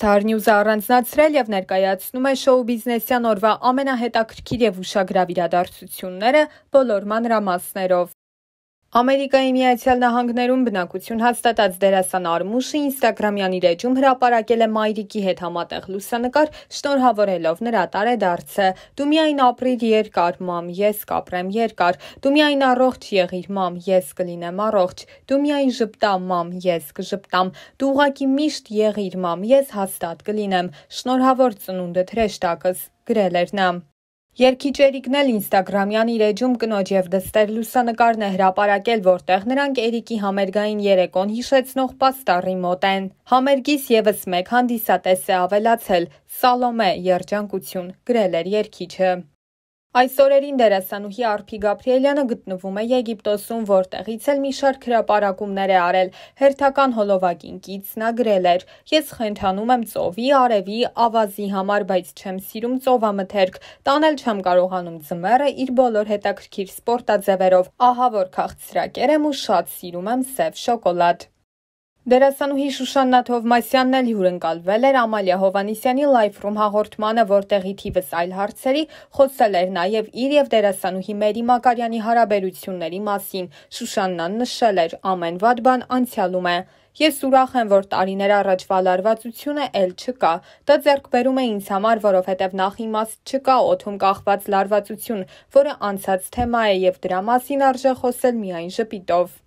Star News-ը առանձնացրել եւ ներկայացնում է շոու բիզնեսյան օրվա ամենահետաքրքիր եւ ուշագրավ իրադարձությունները բոլոր մանրամասներով։ Ամերիկայի Միացյալ Նահանգներում բնակություն հաստատած դերասան Արմուշը Instagram-յան իր էջում հրապարակել է մայրիկի հետ համատեղ լուսանկար, շնորհավորելով նրա տարեդարձը։ Դու միայն ապրիր երկար, մամ, ես կապրեմ երկար։ Դու միայն առողջ եղիր, մամ, ես կլինեմ առողջ։ Դու միայն ժպտա, մամ, ես կժպտամ։ Դու ուղղակի միշտ եղիր, մամ, ես հաստատ կլինեմ։ Շնորհավոր ծնունդդ հրեշտակս, գրել էր նա։ Երգիչ Էրիկն էլ Instagram-յան իր էջում կնոջ եւ դստեր լուսանկարն է հրապարակել, որտեղ նրանք Էրիկի համերգային երեկոն հիշեցնող պաստառի մոտ են։ Համերգից եւս մեկ հանդիսատես է ավելացել՝ Սալոմե, երջանկություն, գրել էր երգիչը։ Այս օրերին դերասանուհի Արփի Գաբրիելյանը գտնվում է Եգիպտոսում, որտեղից էլ մի շարք հրապարակումներ է արել։ Հերթական հոլովակին կից նա գրել էր. «Ես խենթանում եմ ծովի, արևի, ավազի համար, բայց չեմ սիրում ծովամթերք, տանել չեմ կարողանում ձմեռը իր բոլոր հետաքրքիր սպորտաձևերով, ահա որ քաղցրակեր եմ ու շատ սիրում եմ սև շոկոլադ»։ Դերասանուհի Շուշաննա Թովմասյանն էլ հյուրընկալվել էր Ամալիա Հովհաննիսյանի Live Room հաղորդմանը, որտեղի թիվս այլ հարցերի խոսել էր նաև իր եւ դերասանուհի Մերի Մակարյանի հարաբերությունների մասին։ Շուշաննան նշել էր. «Ամեն վատ բան անցյալում է։ Ես ուրախ եմ, որ տարիներ առաջվա լարվածությունը էլ չկա։ Դա ձեռք բերում է ինձ համար, որովհետև նախ իմաստ չկա օդում կախված լարվածություն, որը անցած թեմա է եւ դրա մասին արժե խոսել միայն ժպիտով»։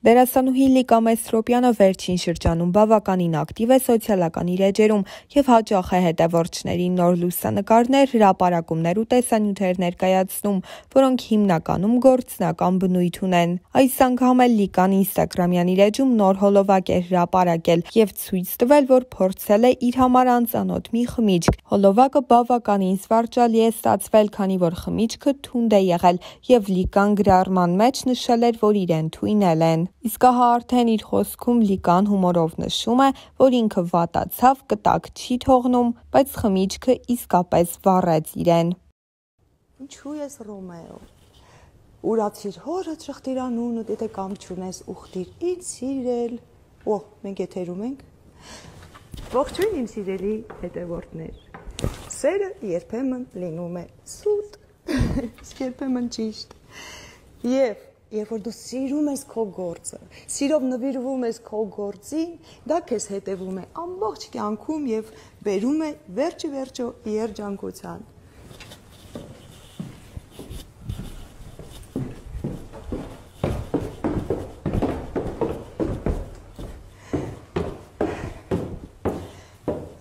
Դերասանուհի Լիկա Մեսրոպյանը վերջին շրջանում բավականին ակտիվ է սոցիալական իր էջերում եւ հաճախ է հետևորդներին նոր լուսանկարներ, հրապարակումներ ու տեսանյութեր ներկայացնում, որոնք հիմնականում գործնական բնույթ ունեն։ Այս անգամ էլ Լիկան Instagram-յան իր էջում նոր հոլովակ է հրապարակել եւ ցույց տվել, որ փորձել է իր համար անծանոթ մի խմիչք։ Հոլովակը բավականին զվարճալի է ստացվել, քանի որ խմիչքը թունդ է եղել եւ Լիկան գրառման մեջ նշել էր, որ իրեն թույնել են։ Իսկ ահա արդեն իր խոսքում Լիկան հումորով նշում է, որ ինքը վատացավ, կտակ չի թողնում, բայց խմիչքը իսկապես վառեց իրեն։ Ինչու ես Ռոմեո։ Ուրացիր հորդ շղթիր անունը, եթե կամ չունես ուխտիր, ինձ սիրել։ Օ, մենք եթերում ենք։ Ողջույն իմ սիրելի հետևորդներ։ Սերը երբեմն լինում է սուտ, երբեմն ճիշտ։ Եվ երբ որ դու սիրում ես քո գործը, սիրով նվիրվում ես քո գործին, դա քեզ հետևում է ամբողջ կյանքում եւ բերում է վերջը երջանկության։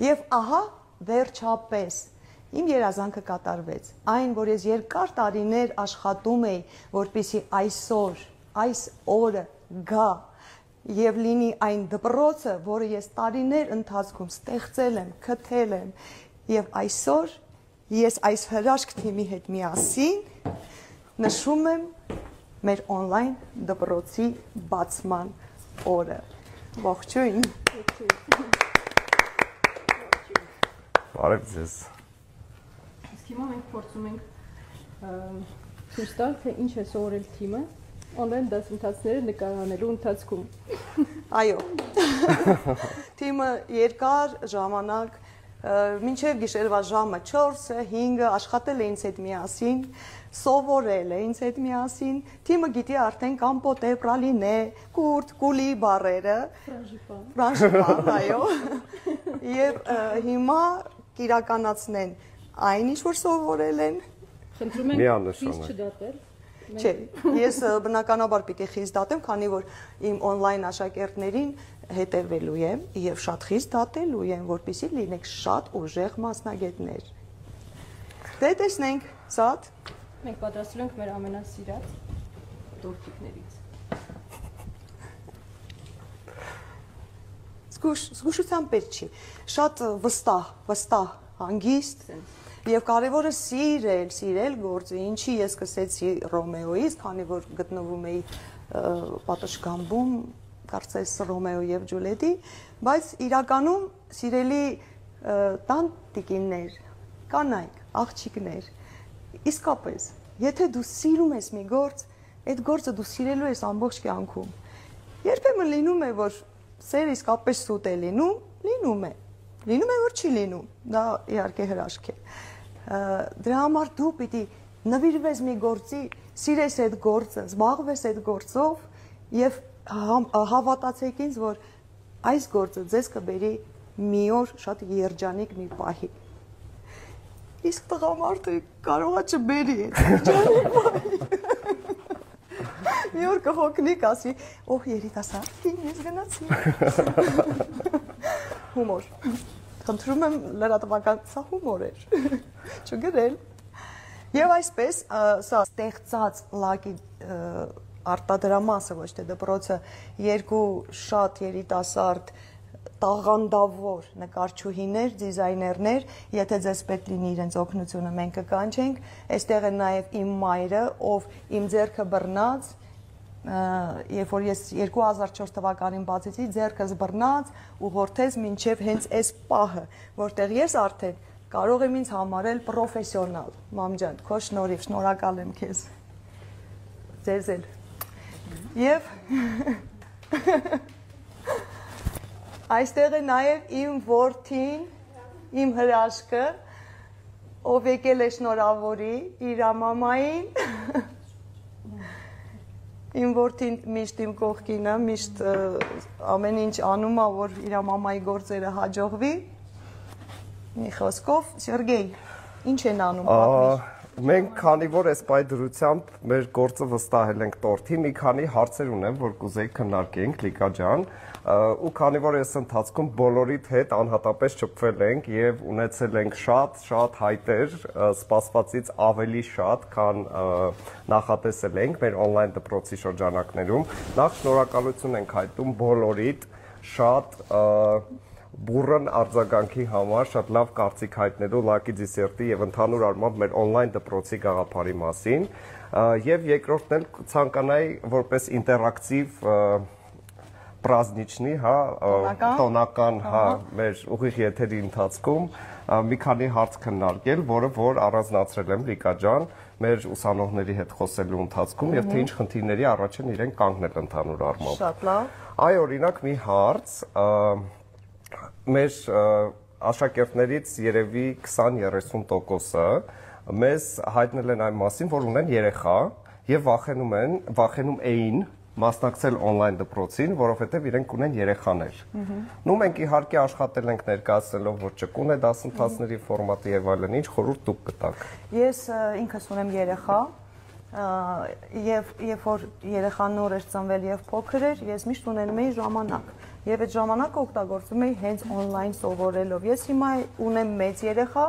Եվ ահա վերջապես իմ երազանքը կատարվեց, այն, որ ես երկար տարիներ աշխատում էի, որպեսզի այսօր, այս օրը գա եւ լինի այն դպրոցը, որը ես տարիներ ընթացքում ստեղծել եմ, քթել եմ, եւ այսօր ես այս հրաշք թիմի հետ միասին նշում եմ մեր on-line դպրոցի բացման օրը։ Ողջույն։ Բարև ձեզ։ Հիմա մենք փորձում ենք ցույց տալ, թե ինչ է սովորել թիմը on-line դասընթացները նկարանելու ընթացքում։ Այո։ Թիմը երկար ժամանակ մինչև գիշերվա ժամը 4-ը, 5-ը աշխատել է ինձ հետ միասին, սովորել է ինձ հետ միասին։ Թիմը գիտի արդեն կամպոտե, պրալինե, կուրտ, կուլի բառերը։ Ֆրանժիպան, այո։ Եվ հիմա կիրականացնեն այն ինչ որ սովորել են։ Խնդրում ենք խիստ չդատել։ Չէ, ես բնականաբար պիտի խիստ դատեմ, քանի որ իմ on-line աշակերտներին հետևելու եմ եւ շատ խիստ դատելու եմ, որպեսզի լինենք շատ ուժեղ մասնագետներ։ Դե տեսնենք, սատ։ Մենք պատրաստել ենք մեր ամենասիրած տորտիկներից։ Զգուշության պետք չի։ Շատ վստահ, հանգիստ եւ կարեւորը սիրել գործը, ինչի ես սկսեցի Ռոմեոից, քանի որ գտնվում էի պատշգամբում, կարծես Ռոմեո եւ Ջուլիետի, բայց իրականում սիրելի տանտիկիններ, կանայք, աղջիկներ, իսկապես, եթե դու սիրում ես մի գործ, այդ գործը դու սիրելու ես ամբողջ կյանքում։ Երբեմն լինում է, որ սերը իսկապես սուտ է լինում է, Լինում է որ չի լինում, դա իհարկե հրաշք է։ Դրա համար դու պիտի նվիրվես մի գործի, սիրես այդ գործը, զբաղվես այդ գործով եւ հավատացեք ինձ, որ այս գործը ձեզ կբերի մի օր շատ երջանիկ մի պահի։ Իսկ տղամարդը կարողա չբերի այդ երջանիկ պահի։ Մի օր կհոգնիկ ասի, օհ երիտասարդ կին, ես գնացի։ Հումոր։ Խնդրում եմ լրատվական, սա հումոր էր, չգրել։ Եվ այսպես, սա ստեղծած լակի արտադրամասը, ոչ թե դպրոցը, երկու շատ երիտասարդ տաղանդավոր նկարչուհիներ, դիզայներներ, եթե ձեզ պետք լինի իրենց օգնությունը, մենք կկանչենք, այստեղ է նաև իմ մայրը, ով իմ ձեռքը բռնած, երբ որ ես 2004 թվականին բացեցի, ձեռքս բռնած ու հորթեց մինչև հենց այս պահը, որտեղ ես արդեն կարող եմ ինձ համարել պրոֆեսիոնալ, մամ ջան, քո շնորհիվ, շնորհակալ եմ քեզ։ Ձեզ էլ։ Եվ այստեղ է նաև իմ որդին, իմ հրաշքը, ով եկել է շնորհավորի իր մամային։ Իմ որդին միշտ իմ կողքին է, միշտ ամեն ինչ անում է, որ իր մամայի գործերը հաջողվի։ Մի խոսքով, Սերգեյ, ինչ են անում պատմիր։ Մենք քանի որ այս պայդրությամբ մեր գործը վստահել ենք տորթի, մի քանի հարցեր ունեմ, որ կուզեի քննարկենք, Լիկա ջան, ու քանի որ այս ընթացքում բոլորիդ հետ անհատապես շփվել ենք եւ ունեցել ենք շատ հայտեր, սպասվածից ավելի շատ, քան նախատեսել ենք մեր on-line դպրոցի շրջանակներում, նախ շնորհակալություն ենք հայտնում բոլորիդ շատ բուրըն արձագանքի համար, շատ լավ կարծիք հայտնելու Lucky Dessert-ի եւ ընդհանուր առմամբ մեր on-line դպրոցի գաղափարի մասին, եւ երկրորդն էլ ցանկանայի որպես ինտերակտիվ պրազնիչնի, հա, տոնական, հա, մեր ուղիղ եթերի ընթացքում մի քանի հարց քննարկել, որը որ առանձնացրել եմ Լիկա ջան, մեր ուսանողների հետ խոսելու ընթացքում եւ թե ինչ խնդիրների առաջ են իրենք կանգնել ընդհանուր առմամբ։ Շատ լավ։ Այ օրինակ մի հարց, մեր աշակերտներից երևի 20-30%-ը մեզ հայտնել են այն մասին, որ ունեն երեխա եւ վախենում էին մասնակցել on-line դպրոցին, որովհետեւ իրենք ունեն երեխաներ։ Նու մենք իհարկե աշխատել ենք ներկայացնելով, որ ճկուն է դասընթացների ֆորմատը եւ այլն, ինչ խորհուրդ դուք կտաք։ Ես ինքս ունեմ երեխա, եւ երբ որ երեխան նոր էր ծնվել եւ փոքր էր, ես միշտ ունենում էի ժամանակ։ Եվ այդ ժամանակը օգտագործում էի հենց on-line սովորելով։ Ես հիմա ունեմ մեծ երեխա,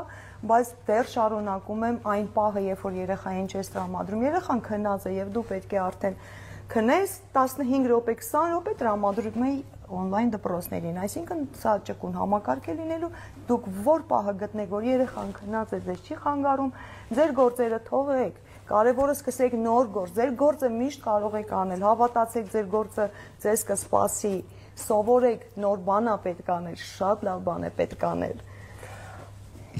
բայց դեռ շարունակում եմ այն պահը, երբ որ երեխային չես տրամադրում։ Երեխան քնած է եւ դու պետք է արդեն քնես 15 րոպե, 20 րոպե տրամադրում էի on-line դպրոցներին, այսինքն սա ճկուն համակարգ է լինելու, դուք որ պահը գտնեք, որ երեխան քնած է, ձեզ չի խանգարում, ձեր գործերը թողեք, կարևորը սկսեք նոր գործ, ձեր գործը միշտ կարող եք անել, հավատացեք ձեր գործը ձեզ կսպասի, սովորեք, նոր բան է պետք անել, շատ լավ բան է պետք անել։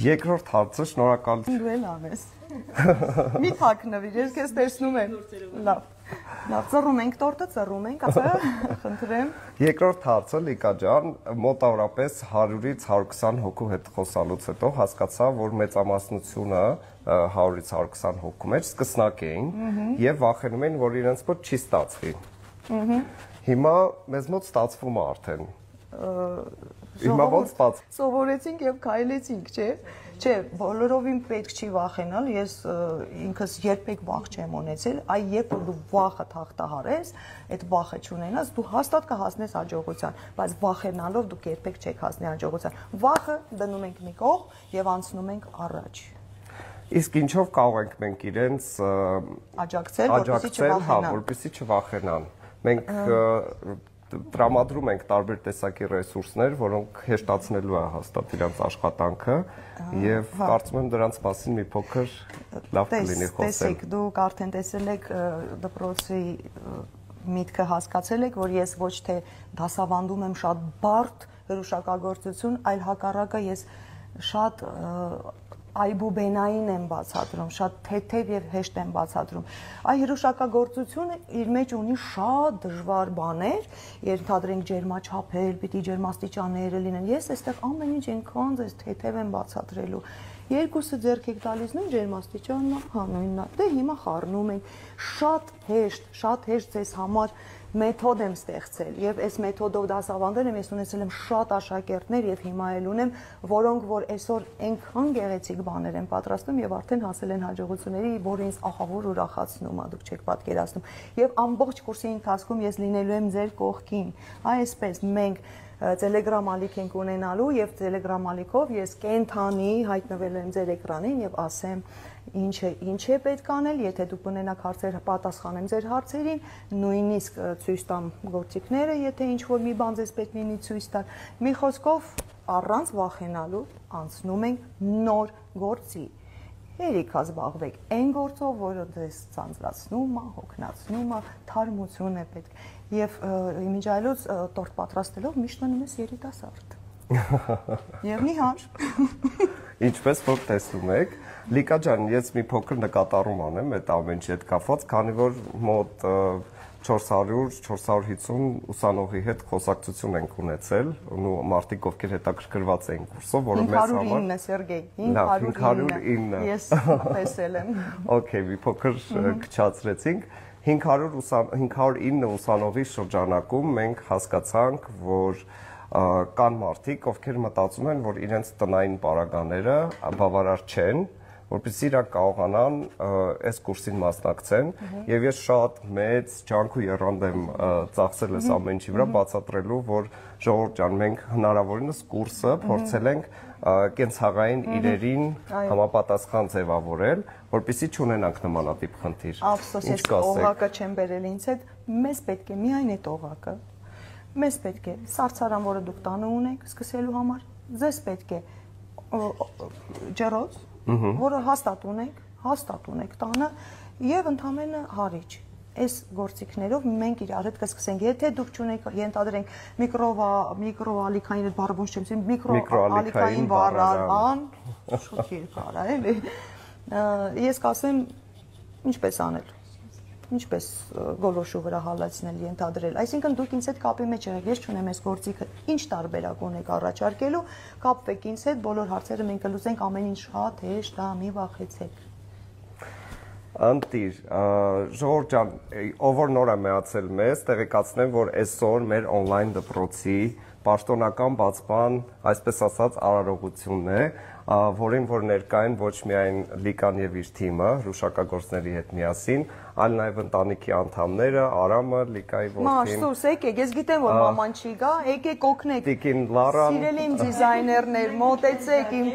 Երկրորդ հարցը, շնորհակալություն։ Դու էլ անես։ Մի թաքնվիր, ես քեզ տեսնում եմ։ Լավ։ Լավ, ծռում ենք տորտը, ծռում ենք, ասա, խնդրեմ։ Երկրորդ հարցը, Լիկա ջան, մոտավորապես 100-ից 120 հոգու հետ խոսալուց հետո հասկացա, որ մեծամասնությունը 100-ից 120 հոգու մեջ սկսնակ էին եւ վախենում էին, որ իրենց մոտ չի ստացվի։ Հիմա մեզ մոտ ստացվում է արդեն։ Հիմա ոնց ստաց։ Սովորեցինք եւ քայլեցինք, չէ՞։ Չէ, բոլորովին պետք չի վախենալ, ես ինքս երբեք վախ չեմ ունեցել, այ երբ որ դու վախը հաղթահարես, այդ վախը չունենաս, դու հաստատ կհասնես հաջողության, բայց վախենալով դուք երբեք չեք հասնի հաջողության։ Վախը դնում ենք մի կողմ եւ անցնում ենք առաջ։ Իսկ ինչով կարող ենք մենք իրենց աջակցել, որպեսզի չվախենան։ Մենք տրամադրում ենք տարբեր տեսակի ռեսուրսներ, որոնք հեշտացնելու են հաստատ իրենց աշխատանքը եւ կարծում եմ դրանց մասին մի փոքր լավ կլինի խոսել։ Տեսեք, դուք արդեն տեսել եք դպրոցի միտքը հասկացել եք, որ ես ոչ թե դասավանդում եմ շատ բարդ հրուշակագործություն, այլ հակառակը ես շատ այբուբենային եմ բացատրում, շատ թեթև եւ հեշտ եմ բացատրում։ Այ հրուշակագործությունը իր մեջ ունի շատ դժվար բաներ, ենթադրենք ջերմաչափեր, պիտի ջերմաստիճանները լինեն։ Ես այստեղ ամեն ինչ այնքան ձեզ թեթև եմ բացատրելու։ Երկուսը ձեռք եք տալիս նույն ջերմաստիճանն է, հա նույնն է։ Դե հիմա խառնում ենք շատ հեշտ ձեզ համար մեթոդ եմ ստեղծել եւ այս մեթոդով դասավանդել եմ, ես ունեցել եմ շատ աշակերտներ եւ հիմա էլ ունեմ, որոնք որ այսօր այնքան գեղեցիկ բաներ են պատրաստում եւ արդեն հասել են հաջողությունների, որը ինձ ահավոր ուրախացնում է, դուք չեք պատկերացնում։ Եվ ամբողջ կուրսի ընթացքում ես լինելու եմ ձեր կողքին։ Այսպես մենք Telegram ալիք ենք ունենալու եւ Telegram ալիքով ես կենթանի հայտնվելու եմ ձեր էկրանին եւ ասեմ ինչ է պետք անել, եթե դուք ունենաք հարցեր, պատասխանեմ ձեր հարցերին, նույնիսկ ցույց տամ գործիքները, եթե ինչ-որ մի բան ձեզ պետք լինի ցույց տալ։ Մի խոսքով առանց վախենալու անցնում ենք նոր գործի։ Երիքա զբաղվեք այն գործով, որը ձեզ ցանցրացնում է, հոգնածնում է, թարմություն է պետք։ Եվ իմիջայլոց տորտ պատրաստելով միշտ մնում ես երիտասարդ։ Եվ նիհար։ Ինչպես որ տեսնում եք, Լիկա ջան, ես մի փոքր նկատառում անեմ այդ ամեն ինչի հետ կապված, քանի որ մոտ 400-450 ուսանողի հետ խոսակցություն ենք ունեցել, ու մարդիկ ովքեր հետաքրքրված էին կուրսով, որը մեզ համար 509 Սերգեյ, 509։ Ես տեսել եմ։ Okay, մի փոքր քչացրեցինք։ 509 ուսանողի շրջանակում մենք հասկացանք, որ կան մարդիկ, ովքեր մտածում են, որ իրենց տնային պարագաները բավարար չեն, որպեսզի իրենք կարողանան այս կուրսին մասնակցեն, եւ ես շատ մեծ ջանք ու եռանդ եմ ծախսել այս ամեն ինչի վրա, բացատրելու, որ ժողովուրդ ջան, մենք հնարավորինս կուրսը փորձել ենք կենցաղային իրերին համապատասխան ձևավորել, որպեսզի չունենանք նմանատիպ խնդիր։ Ափսոս, ես օղակը չեմ բերել ինձ հետ, մեզ պետք է միայն այդ օղակը։ Մեզ պետք է սարցարան, որը դուք տանը ունեք սկսելու համար, ձեզ պետք է ջեռոց, որը հաստատ ունեք տանը եւ ընդամենը հարիչ։ Այս գործիքներով մենք իրար հետ կսկսենք։ Եթե դուք չունեք, ենթադրենք միկրոալիքային այդ բառը ոնց չեմ ասում, միկրոալիքային բառարան, շուտ երկար է, էլի։ Ես կասեմ ինչպես անել։ Ինչպես գոլոշու վրա հալածնել, ենթադրել։ Այսինքն դուք ինձ հետ կապի մեջ եղեք, ես չունեմ այս գործիքը, ինչ տարբերակ ունեք առաջարկելու, կապվեք ինձ հետ, բոլոր հարցերը մենք կլուծենք, ամեն ինչ շատ հեշտ է, մի վախեցեք։ Անտիր, ժողովուրդ ջան, ով որ նոր է միացել մեզ, տեղեկացնեմ, որ այսօր մեր on-line դպրոցի պաշտոնական բացման, այսպես ասած, արարողությունն է, որին որ ներկա են ոչ միայն Լիկան եւ իր թիմը, հրուշակագործների հետ միասին, այլ նաեւ ընտանիքի անդամները, Արամը, Լիկայի որդին։ Մաշտուս, եկեք, ես գիտեմ, որ մաման չի գա, եկեք օգնեք։ Տիկին Լարան։ Սիրելի իմ դիզայներներ, մոտեցեք իմ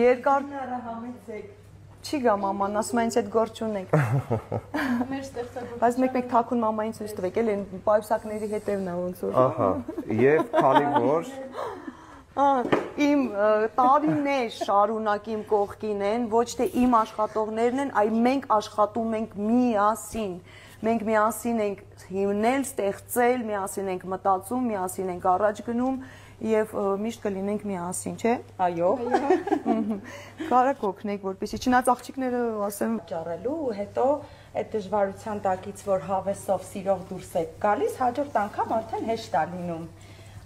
երկար Համեցեք։ Չի գա մաման, ասում է ինձ այդ գործ չունեք։ Մեր ստեղծագործությունը։ Բայց մեկ թաքուն մամային ցույց տվեք, էլ այն պայուսակների հետևն է ոնց որ։ Ահա, եւ քանի որ Իմ տարիներ շարունակ իմ կողքին են, ոչ թե իմ աշխատողներն են, այլ մենք աշխատում ենք միասին։ Մենք միասին ենք հիմնել, ստեղծել, միասին ենք մտածում, միասին ենք առաջ գնում եւ միշտ կլինենք միասին, չէ՞։ Այո։ Կարա կօգնեք, որպեսզի չնայած աղջիկները ասեմ ճառելու ու հետո այդ դժվարության տակից որ հավեսով սիրող դուրս եք գալիս, հաջորդ անգամ արդեն հեշտ է լինում։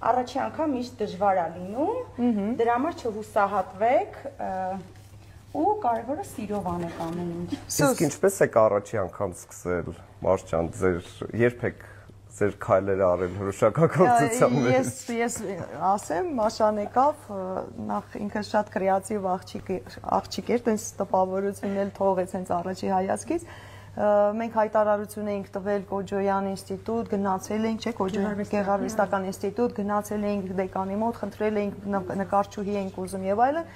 Առաջի անգամ միշտ դժվար է լինում, դրա համար չհուսահատվեք ու կարևորը սիրով անեք ամեն ինչ։ Իսկ ինչպես եք առաջի անգամ սկսել, Մարդ ջան, երբեք ձեր քայլերը արել հրուշակագործության մեջ։ Ես ասեմ, Մաշան եկավ, նախ ինքը շատ կրեատիվ աղջիկ էր, տենց տպավորությունն էլ թողեց հենց առաջի հայացքից։ Մենք հայտարարություն էինք տվել Կոջոյան ինստիտուտ, գնացել էինք, չէ՞, Կոջոյան գեղարվեստական ինստիտուտ, գնացել էինք դեկանի մոտ, խնդրել էինք նկարչուհի էինք ուզում եւ այլն։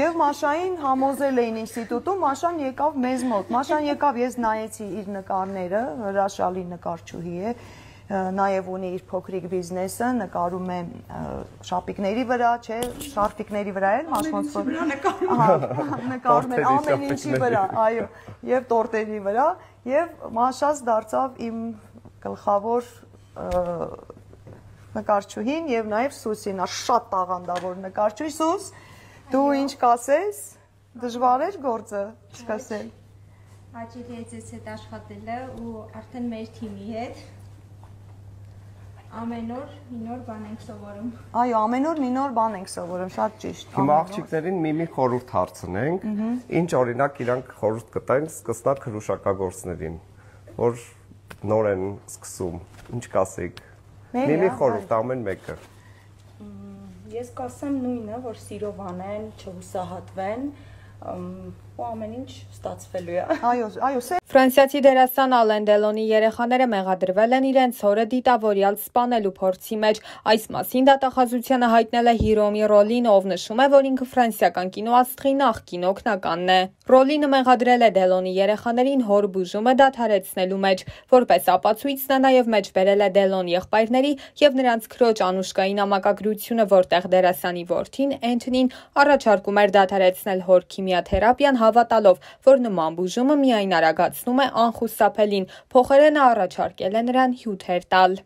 Եվ Մաշային համոզել էին ինստիտուտում, Մաշան եկավ մեզ մոտ։ Մաշան եկավ, ես նայեցի իր նկարները, հրաշալի նկարչուհի է, նաև ունի իր փոքրիկ բիզնեսը, նկարում է շապիկների վրա, չէ, շարֆիկների վրա էլ, ոնց որ նկարում է ամեն ինչի վրա, այո, եւ տորտերի վրա, եւ Մաշաս դարձավ իմ գլխավոր նկարչուհին եւ նաեւ Սուսին, շատ տաղանդավոր նկարչուհի, Սուս, Դու ինչ կասես։ Դժվար էր գործը սկսել։ Հաճելի է ձեզ հետ աշխատելը ու արդեն մեր թիմի հետ ամեն օր մի նոր բան ենք սովորում։ Այո, ամեն օր մի նոր բան ենք սովորում, շատ ճիշտ։ Հիմա աղջիկներին մի խորհուրդ հարցնենք, ինչ օրինակ իրանք խորհուրդ կտային սկսնակ հրուշակագործներին, որ նոր են սկսում, ինչ կասեք։ Մի խորհուրդ ամեն մեկը։ Ես կասեմ նույնը, որ սիրով անեն, չհուսահատվեն, ու ամեն ինչ ստացվելու է։ Այո, Ֆրանսիացի դերասան Ալեն Դելոնի երեխաները մեղադրվել են իրենց հորը դիտավորյալ սպանելու փորձի մեջ։ Այս մասին դատախազությանը հայտնել է Հիրոմի Ռոլին, ով նշում է, որ ինքը ֆրանսիական կինոաստղի նախկին օգնականն է։ Ռոլինը մեղադրել է Դելոնի երեխաներին հոր բուժումը դադարեցնելու մեջ, որպես ապացույց նա նաև մեջբերել է Դելոն եղբայրների եւ նրանց քրոջ Անուշկայի նամակագրությունը, որտեղ դերասանի որդին Էնթոնին առաջարկում էր դադարեցնել հոր քիմիաթերապիան, հավատալով, որ նման բուժումը միայն արագացնում է անխուսափելին, փոխարենը առաջարկել է նրան հյութեր տալ։